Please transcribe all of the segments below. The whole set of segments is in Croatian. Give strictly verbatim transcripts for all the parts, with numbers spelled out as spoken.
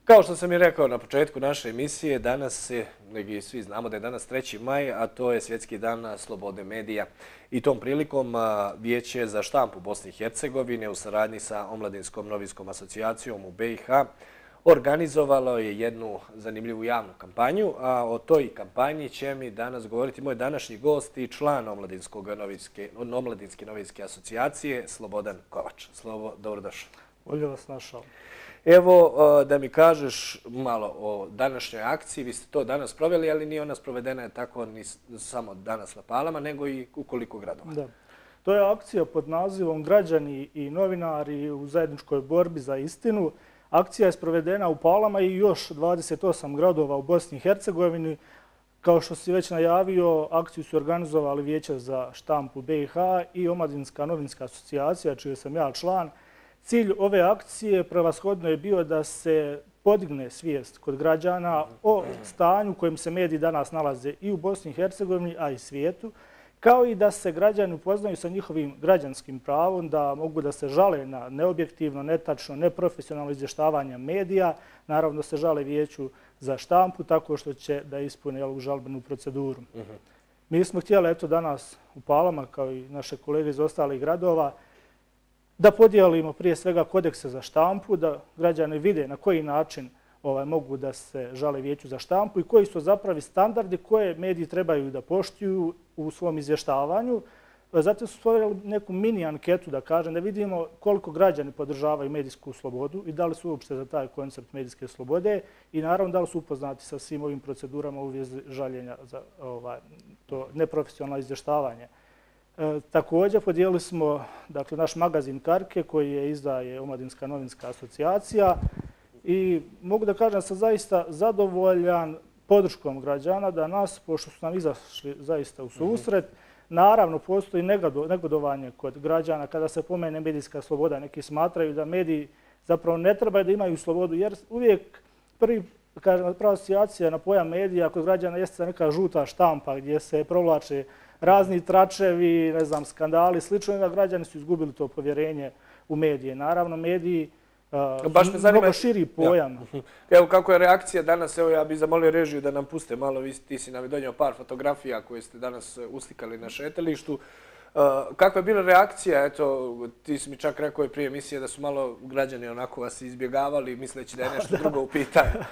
Kao što sam i rekao na početku naše emisije, danas je, neki svi znamo da je danas treći maj, a to je Svjetski dan slobode medija. I tom prilikom Vijeće za štampu Bosne i Hercegovine u saradnji sa Omladinskom novinskom asocijacijom u B i H organizovalo je jednu zanimljivu javnu kampanju, a o toj kampanji će mi danas govoriti moj današnji gost i član Omladinske novinske asocijacije Slobodan Kovač. Slobo, dobrodošao. Bolje vas našao. Evo, da mi kažeš malo o današnjoj akciji. Vi ste to danas proveli, ali nije ona sprovedena tako ni samo danas na Palama, nego i u koliko gradova. Da. To je akcija pod nazivom Građani i novinari u zajedničkoj borbi za istinu. Akcija je sprovedena u Palama i još dvadeset osam gradova u Bosni i Hercegovini. Kao što si već najavio, akciju su organizovali Vijeće za štampu B i H i Omladinska novinska asocijacija, čiji sam ja član. Cilj ove akcije prevashodno je bio da se podigne svijest kod građana o stanju u kojem se mediji danas nalaze i u Bosni i Hercegovini, a i svijetu, kao i da se građani upoznaju sa njihovim građanskim pravom, da mogu da se žale na neobjektivno, netačno, neprofesionalno izvještavanje medija. Naravno se žale Vijeću za štampu tako što će da ispune ovu žalbenu proceduru. Mi smo htjeli eto danas u Palama, kao i naše kolege iz ostalih gradova, da podijelimo prije svega kodekse za štampu, da građani vide na koji način ovaj, mogu da se žale Vijeću za štampu i koji su zapravo standardi koje mediji trebaju da poštuju u svom izvještavanju. Zatim su stvorili neku mini anketu, da kažem, da vidimo koliko građani podržavaju medijsku slobodu i da li su uopšte za taj koncept medijske slobode i naravno da li su upoznati sa svim ovim procedurama u vezi žaljenja za ovaj, to neprofesionalno izvještavanje. E, također podijelili smo dakle, naš magazin Karke koji je izdaje Omladinska novinska asocijacija i mogu da kažem da sam zaista zadovoljan podrškom građana da nas, pošto su nam izašli zaista u susret, naravno postoji negodovanje kod građana kada se pomene medijska sloboda. Neki smatraju da mediji zapravo ne trebaju da imaju slobodu jer uvijek prvi kažem, prva asocijacija na pojam medija kod građana jeste neka žuta štampa gdje se provlače razni tračevi, ne znam, skandali, slično, da građani su izgubili to povjerenje u medije. Naravno, mediji uh, mnogo širi pojam. Ja. Evo kako je reakcija danas, evo ja bih zamolio režiju da nam puste malo, vi, ti si nam donio par fotografija koje ste danas uslikali na šetalištu. Uh, kakva je bila reakcija? Eto, ti si mi čak rekao i prije emisije da su malo građani onako vas izbjegavali misleći da je nešto drugo u pitanju.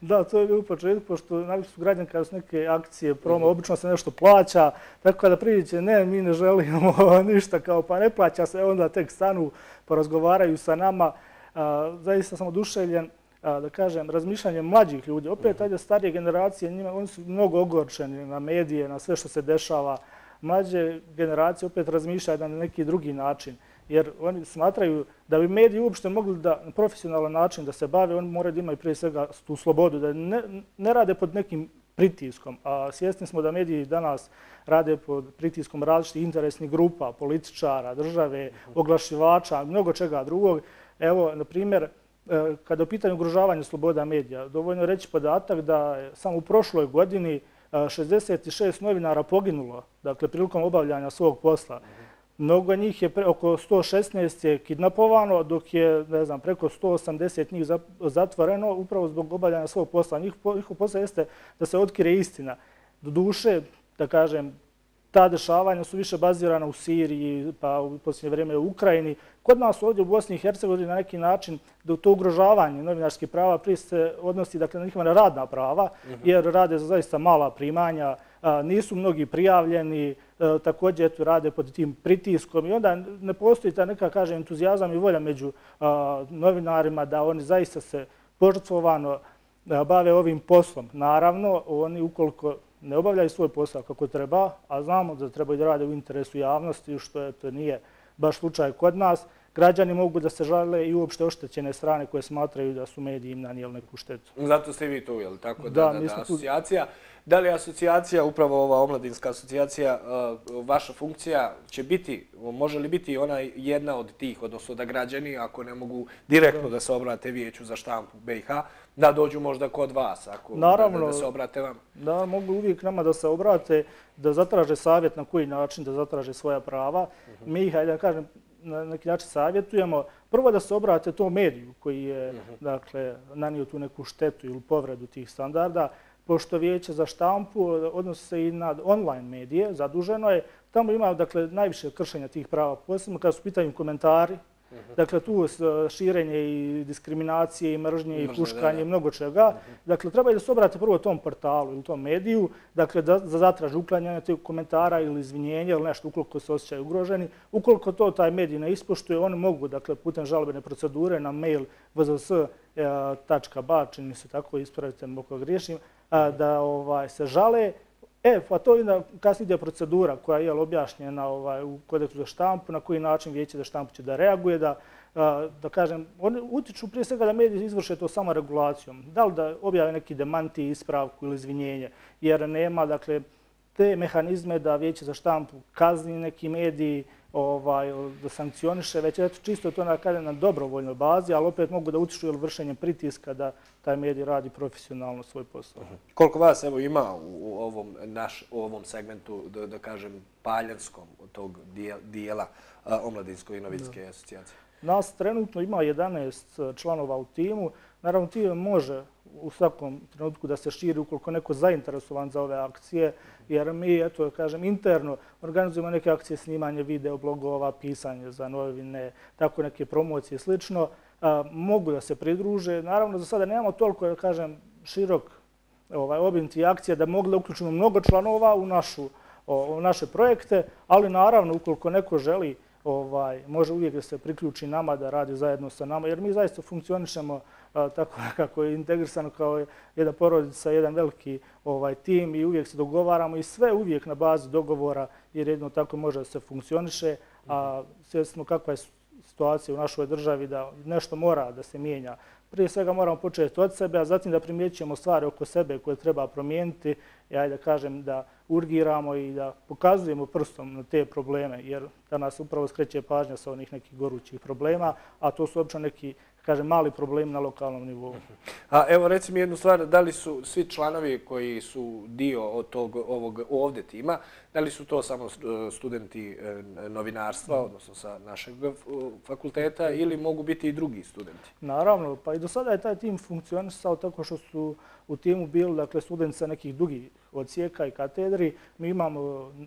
Da, to je bilo u početku, pošto navikli su građani kada su neke akcije, promo, obično se nešto plaća, tako kada priđe, ne, mi ne želimo ništa, kao pa ne plaća se, onda tek stanu, porazgovaraju sa nama. Uh, zaista sam oduševljen, uh, da kažem, razmišljanjem mlađih ljudi. Opet, ajde, starije generacije, njima, oni su mnogo ogorčeni na medije, na sve što se dešava. Mlađe generacije opet razmišljaju na neki drugi način, jer oni smatraju da bi mediji uopšte mogli da na profesionalan način da se bave, oni moraju da imaju prije svega tu slobodu, da ne, ne rade pod nekim pritiskom. A svjesni smo da mediji danas rade pod pritiskom različitih interesnih grupa, političara, države, oglašivača, mnogo čega drugog. Evo, na primjer, kada je u pitanju ugrožavanja sloboda medija, dovoljno reći podatak da je samo u prošloj godini šezdeset šest novinara poginulo, dakle, prilikom obavljanja svog posla. Mnogo njih je, pre, oko sto šesnaest je kidnapovano, dok je, ne znam, preko sto osamdeset njih zatvoreno upravo zbog obavljanja svog posla. Njihov posao jeste da se otkrije istina. Doduše, da kažem, ta dešavanja su više bazirana u Siriji, pa u posljednje vrijeme u Ukrajini. Kod nas ovdje u Bosni i Hercegovini na neki način da to ugrožavanje novinarskih prava prije se odnosi dakle, na njihova radna prava, jer rade za zaista mala primanja, nisu mnogi prijavljeni, također eto, rade pod tim pritiskom i onda ne postoji ta neka, kažem, entuzijazam i volja među novinarima da oni zaista se požrtvovano bave ovim poslom. Naravno, oni ukoliko ne obavljaju svoj posao kako treba, a znamo da trebaju da rade u interesu javnosti, što je, to nije baš slučaj kod nas. Građani mogu da se žale i uopšte oštećene strane koje smatraju da su mediji im nanijeli neku štetu. Zato ste vi tu, je li tako? Da, da, da, da asocijacija. Da li asocijacija, upravo ova omladinska asocijacija, vaša funkcija će biti, može li biti ona jedna od tih, odnosno da građani, ako ne mogu direktno da se obrate Vijeću za štampu B i H, da dođu možda kod vas, ako Naravno, da, da se obrate vam? Da, mogu uvijek nama da se obrate, da zatraže savjet na koji način da zatraže svoja prava. Uh-huh. Mi ih, hajde da kažem, na neki način savjetujemo, prvo da se obrate tom mediju koji je dakle, nanio tu neku štetu ili povredu tih standarda, pošto Vijeće za štampu odnosi se i na online medije, zaduženo je, tamo ima dakle, najviše kršenja tih prava, posebno kada su pitanju komentari. Dakle, tu širenje i diskriminacije i mržnje i puškanje i mnogo čega. Dakle, treba da se obrate prvo tom portalu ili tom mediju, dakle, da zatraže uklanjanje tih komentara ili izvinjenja ili nešto ukoliko se osjećaju ugroženi. Ukoliko to taj medij ne ispoštuje, oni mogu, dakle, putem žalbene procedure na mail v z s tačka b a, čini mi se tako, ispravite me ako griješim, da se žale. E, pa to je kasnije ide procedura koja je objašnjena u kodeksu za štampu, na koji način Vijeće za štampu će da reaguje, da, da kažem, oni utiču prije svega da mediji izvrše to samo regulacijom. Da li da objave neki demanti, ispravku ili izvinjenje, jer nema, dakle, te mehanizme da Vijeće za štampu kazni neki mediji, ovaj, da sankcioniše, već eto, čisto to na dobrovoljnoj bazi, ali opet mogu da utiču vršenjem pritiska da taj medij radi profesionalno svoj posao. Koliko vas evo ima u ovom, naš, u ovom segmentu, da, da kažem, paljanskom tog dijela Omladinsko-novinske asocijacije? Nas trenutno ima jedanaest članova u timu. Naravno, tim može u svakom trenutku da se širi ukoliko neko zainteresovan za ove akcije, jer mi, eto, kažem, interno organizujemo neke akcije snimanje video, blogova, pisanje za novine, tako neke promocije i slično. Mogu da se pridruže. Naravno, za sada nemamo toliko, da kažem, širok obim tih akcija da mogu da uključimo mnogo članova u našu, u naše projekte, ali naravno, ukoliko neko želi, može uvijek da se priključi nama, da radi zajedno sa nama, jer mi zaista funkcionišemo tako kako je integrisano kao jedna porodica, jedan veliki tim i uvijek se dogovaramo i sve uvijek na bazi dogovora, jer jedno tako može da se funkcioniše, a svjesni smo kakva je situacija u našoj državi da nešto mora da se mijenja. Prije svega moramo početi od sebe, a zatim da primjećujemo stvari oko sebe koje treba promijeniti i ajde da kažem da urgiramo i da pokazujemo prstom na te probleme, jer da nas upravo skreće pažnja sa onih nekih gorućih problema, a to su obično neki, kažem, mali problemi na lokalnom nivou. A evo, reci mi jednu stvar, da li su svi članovi koji su dio od tog ovog ovdje tima, da li su to samo studenti novinarstva, odnosno sa našeg fakulteta, ili mogu biti i drugi studenti? Naravno, pa i do sada je taj tim funkcionisao tako što su u timu bili, dakle, studenti sa nekih drugih odsjeka i katedri. Mi imamo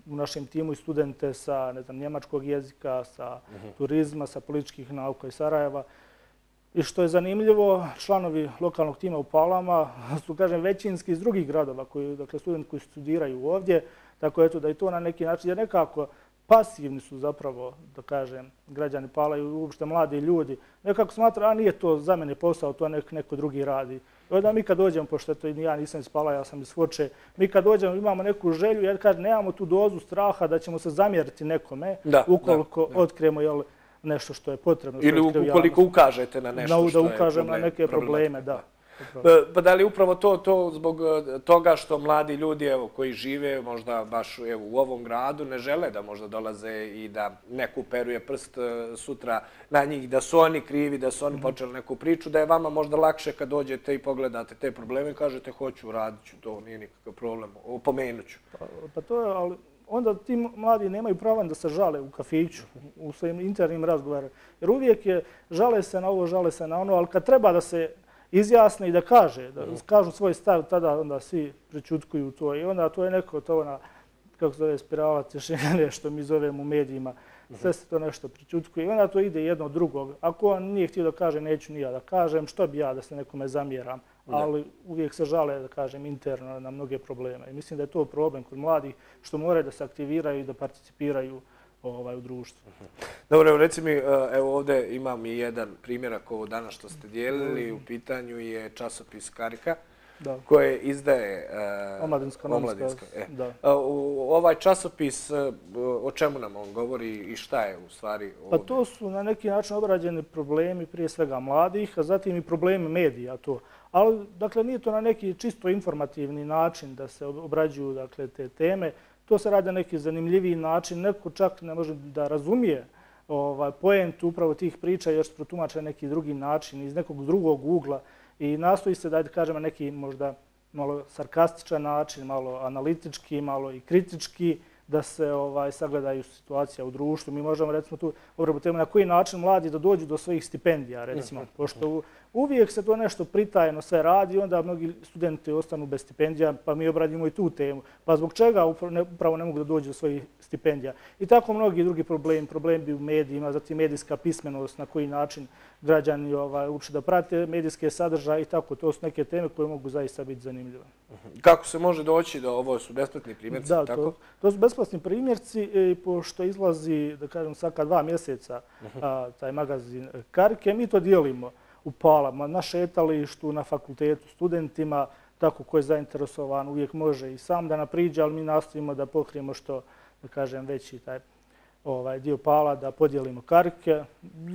u našem timu i studente sa, ne znam, njemačkog jezika, sa turizma, sa političkih nauka iz Sarajeva. I što je zanimljivo, članovi lokalnog tima u Palama su, kažem, većinski iz drugih gradova, koji, dakle, studenti koji studiraju ovdje, tako eto da i to na neki način, jer nekako pasivni su zapravo, da kažem, građani Pala i uopšte mladi ljudi. Nekako smatra, a nije to za mene posao, to nek, neko drugi radi. I onda mi kad dođemo, pošto to ja nisam iz Pala, ja sam iz Foče, mi kad dođemo imamo neku želju, jer kažem, nemamo tu dozu straha da ćemo se zamjeriti nekome, da, ukoliko da, da. otkrijemo, jel, nešto što je potrebno. Ili ukoliko ukažete na nešto no, što je da ukažem na neke probleme, da. Pa da li upravo to, to zbog toga što mladi ljudi evo, koji žive možda baš evo, u ovom gradu ne žele da možda dolaze i da neko uperuje prst sutra na njih, da su oni krivi, da su oni počeli neku priču, da je vama možda lakše kad dođete i pogledate te probleme i kažete hoću, radit ću, to nije nikakav problem, opomenut ću. Pa, pa to je, ali onda ti mladi nemaju prava da se žale u kafiću, u svojim internim razgovorima. Jer uvijek je, žale se na ovo, žale se na ono, ali kad treba da se izjasne i da kaže, da kažu svoj stav, tada onda svi prečutkuju to. I onda to je neko, to ona, kako se zove, spirala tišine, što mi zovemo u medijima. Sve se to nešto prečutkuje i onda to ide jedno od drugog. Ako on nije htio da kaže, neću ni ja da kažem, što bi ja da se nekome zamjeram. Ali uvijek se žale, da kažem, interno na mnoge probleme. I mislim da je to problem kod mladih, što moraju da se aktiviraju i da participiraju u društvu. Dobro, reci mi, evo ovdje imam i jedan primjerak ovo danas što ste dijelili. U pitanju je časopis Karika koje izdaje Omladinska. Ovaj časopis, o čemu nam on govori i šta je u stvari ovdje? Pa to su na neki način obrađeni problemi prije svega mladih, a zatim i problemi medija to. Ali, dakle, nije to na neki čisto informativni način da se obrađuju, dakle, te teme. To se radi na neki zanimljiviji način. Neko čak ne može da razumije ovaj, poentu upravo tih priča jer se protumače na neki drugi način, iz nekog drugog ugla. I nastoji se da kažem na neki možda malo sarkastičan način, malo analitički, malo i kritički, da se ovaj, sagledaju situacija u društvu. Mi možemo recimo tu obrati temu na koji način mladi da dođu do svojih stipendija, recimo, pošto uvijek se to nešto pritajeno sve radi i onda mnogi studenti ostanu bez stipendija, pa mi obradimo i tu temu. Pa zbog čega upravo ne mogu da dođu do svojih stipendija? I tako mnogi drugi problemi, problemi u medijima, zatim medijska pismenost, na koji način građani ovaj, uče da prate medijske sadržaje i tako. To su neke teme koje mogu zaista biti zanimljive. Kako se može doći do ovo su besplatni primjerci? Da, tako? To, to su besplatni primjerci i pošto izlazi, da kažem, svaka dva mjeseca a, taj magazin Karike, mi to dijelimo u Palama, na šetalištu, na fakultetu, studentima, tako ko je zainteresovan uvijek može i sam da napriđe, ali mi nastojimo da pokrijemo što, da kažem, veći taj ovaj dio Pala, da podijelimo karike.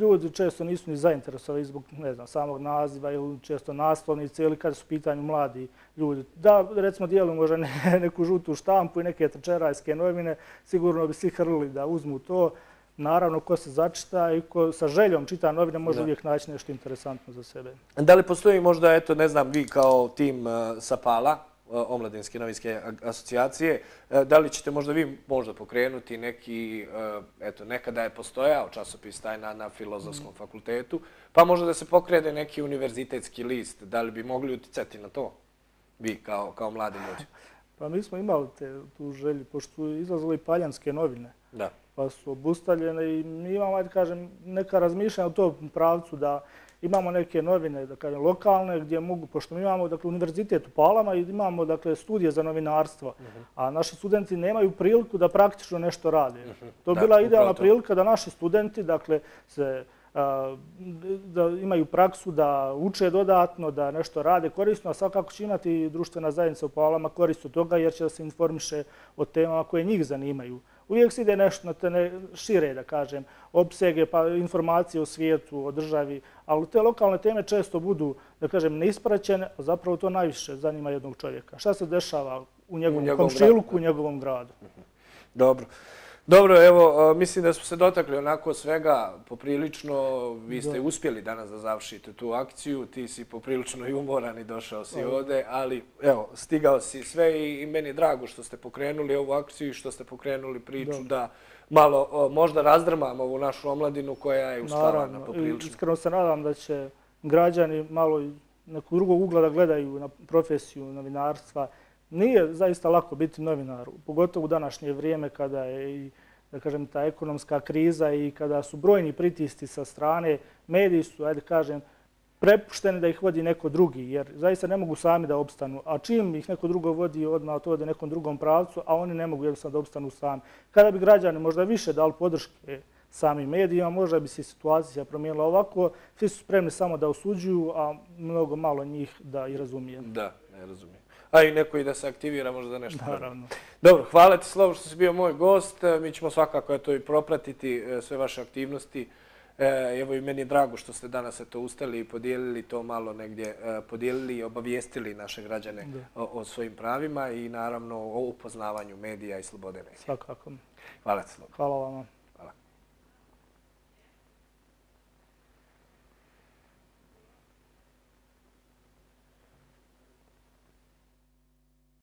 Ljudi često nisu ni zainteresovani zbog, ne znam, samog naziva ili često naslovnice ili kad su u pitanju mladi ljudi. Da, recimo, dijelimo možda ne, neku žutu štampu i neke trčerajske novine, sigurno bi svi hrlili da uzmu to. Naravno, ko se začita i ko sa željom čita novine može da. uvijek naći nešto interesantno za sebe. Da li postoji možda, eto, ne znam, vi kao tim uh, sa Pala, Omladinske novinske asocijacije. Da li ćete možda vi možda pokrenuti neki, eto, nekada je postojao časopis taj na, na Filozofskom fakultetu, pa možda da se pokrene neki univerzitetski list. Da li bi mogli uticati na to, vi kao, kao mladi ljudi? Pa mi smo imali te, tu želju, pošto su izlazile i paljanske novine, da. pa su obustavljene i mi imamo, ajde kažem, neka razmišljanja u tom pravcu da imamo neke novine, da kažem, lokalne, gdje mogu, pošto mi imamo, dakle, univerzitet u Palama i imamo, dakle, studije za novinarstvo, uh-huh. a naši studenti nemaju priliku da praktično nešto rade. Uh-huh. To je bila da, idealna prilika da naši studenti, dakle, se, a, da imaju praksu, da uče dodatno, da nešto rade korisno, a svakako će imati društvena zajednica u Palama korist od toga jer će da se informiše o temama koje njih zanimaju. Uvijek se ide nešto na te ne, šire, da kažem, opsege, pa informacije o svijetu, o državi, ali te lokalne teme često budu, da kažem, neispraćene, a zapravo to najviše zanima jednog čovjeka. Šta se dešava u njegovom, u njegovom komšiluku, u njegovom gradu. Dobro. Dobro, evo, mislim da smo se dotakli onako svega poprilično. Vi ste uspjeli danas da završite tu akciju. Ti si poprilično i umoran i došao si ovdje, ali evo, stigao si sve i meni je drago što ste pokrenuli ovu akciju i što ste pokrenuli priču da malo možda razdrmamo ovu našu omladinu koja je uspavana poprilično. Iskreno se nadam da će građani malo nekog drugog ugla da gledaju na profesiju novinarstva. Nije zaista lako biti novinar, pogotovo u današnje vrijeme kada je i, da kažem, ta ekonomska kriza i kada su brojni pritisci sa strane. Mediji su, ajde kažem, prepušteni da ih vodi neko drugi, jer zaista ne mogu sami da opstanu. A čim ih neko drugo vodi, odmah to ode nekom drugom pravcu, a oni ne mogu jednostavno da opstanu sami. Kada bi građani možda više dali podrške samim medijima, možda bi se situacija promijenila ovako. Svi su spremni samo da osuđuju, a mnogo malo njih da i razumije. Da, ne razumije. A i neko i da se aktivira možda da nešto. Naravno. Dobro, hvala ti Slovo što si bio moj gost. Mi ćemo svakako to i propratiti, sve vaše aktivnosti. Evo i meni je drago što ste danas to ustali i podijelili to malo negdje, podijelili i obavijestili naše građane o, o svojim pravima i naravno o upoznavanju medija i slobode medija. Svakako. Hvala ti Slovo. Hvala vama.